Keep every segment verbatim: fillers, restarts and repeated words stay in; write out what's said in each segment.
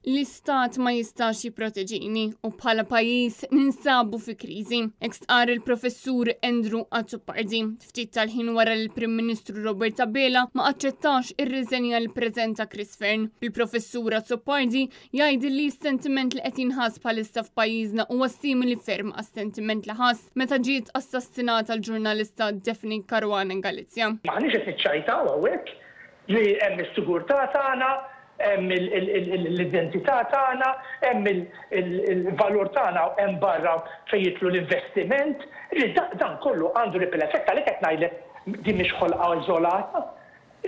L-istat ma jistax jipproteġini u bħala pajjiż ninsabu fi kriżi. Hekk stqarr il-Professur Andrew Azzopardi ftit tal-ħin wara li l-Prim Ministru Robert Abela ma aċċettax ir-riżenja li preżenta Chris Fearne. Il-Professur Azzopardi jgħid li s-sentiment li qed jinħass bħalissa f'pajjiżna huwa simili ferm għas-sentiment li ħass meta ġiet assassinata l-ġurnalista Daphne Caruana Galizia. M'aħniex qed niċċajtaw hawnhekk li hemm is-sigurtà tagħna, hemm l-identità tagħna, hemm il-valur tagħna, hemm barra fejn jidħlu l-investiment, li dan kollu għandu ripple effect. Għalhekk qed ngħidlek din mhix ħolqa iżolata.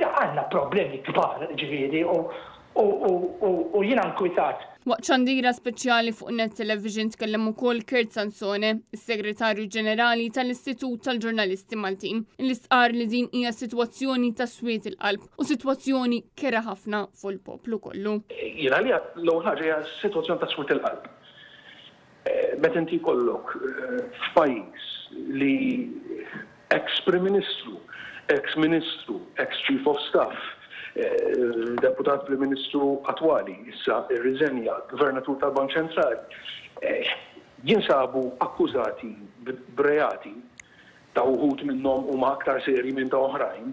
Għandna problemi kbar, ġifieri, u jiena nkwitat. Waqt xandira speċjali fuq Net Television tkellem ukoll Kurt Sansone, is-Segretarju Ġenerali tal-Istitut tal-Ġurnalisti Maltin, li stqarr li din hija sitwazzjoni ta' swied il-qalb u sitwazzjoni kerha ħafna fuq il-poplu kollu. Jiena li l-ewwel ħaġa hija sitwazzjoni ta' swied il-qalb. Meta inti jkollok f'pajjiż li ex-Prim Ministru, ex-Ministru, ex-Chief of Staff, deputat Prim Ministru attwali, issa irriżenja, Gvernatur tal-Bank Ċentrali, jinsabu akkużati b'reati ta' uħud minnhom huma aktar seri minn ta' oħrajn,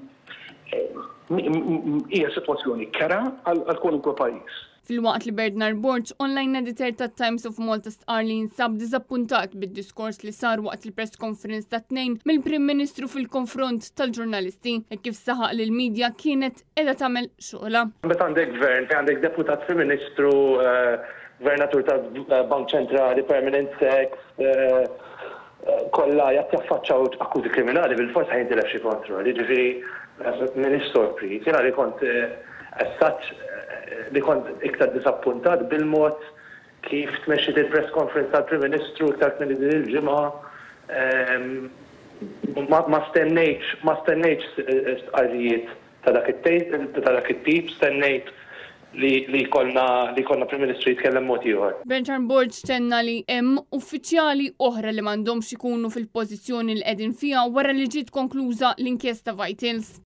hija sitwazzjoni kerha għal kwalunkwe pajjiż. Filwaqt li Bernard Borg, online editor ta' Times of Malta, stqarr li jinsab diżappuntat bid-diskors li sar waqt il-press conference ta' Tnejn mill-Prim Ministru fil-konfront tal-ġurnalisti, e kif saħaq li l-medja kienet qiegħda tagħmel xogħla. Meta għandek gvern, fejn għandek deputat Prim Ministru, Gvernatur tal-Bank Ċentrali, Permanent Sec, kollha jaffaċċaw akkużi kriminali, bil-forsa jintilef xi kontroll. Jiġifieri m'iniex sorpriż. Jiena li kont as such li kont iktar disappuntat bil-mod kif tmexxiet il-press conference tal-Prim Ministru iktar kmieni din il-ġimgħa. Ma stennejtx, ma stennejtx stqarrijiet ta' dak ta' dak it-tip, stennejt li li jkollna li jkollna Prim Ministru jitkellem mod ieħor. Bernard Borg tenna li hemm uffiċjali oħra li m'għandhomx ikunu fil-pożizzjoni li qegħdin fiha wara li ġiet konkluża l-inkjesta Vitals.